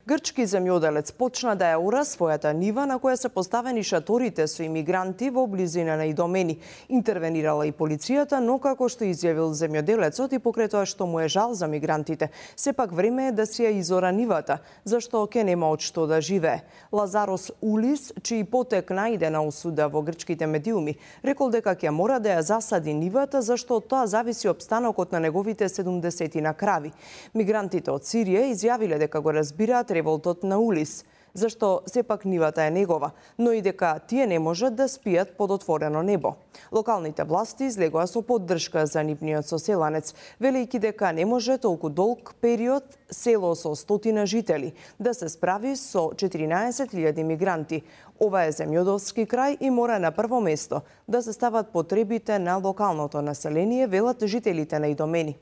Грчки земјоделец почна да ја ора својата нива на која се поставени шаторите со имигранти во близина на идомени. Интервенирала и полицијата, но како што изјавил земјоделецот и покрај тоа што му е жал за мигрантите, сепак време е да си ја изора нивата, зашто ке нема од што да живее. Лазарос Улис, чиј потек најде на осуда во грчките медиуми, рекол дека ќе мора да ја засади нивата, зашто од тоа зависи опстанокот на неговите 70 крави. Мигрантите од Сирија изјавиле дека го разбираат револтот на Улис, зашто сепак нивата е негова, но и дека тие не можат да спијат под отворено небо. Локалните власти излегоа со поддршка за нивниот соселанец, велејќи дека не може толку долг период село со 100 жители да се справи со 14.000 мигранти. Ова е земјоделски крај и мора на прво место да се стават потребите на локалното население, велат жителите на идомени.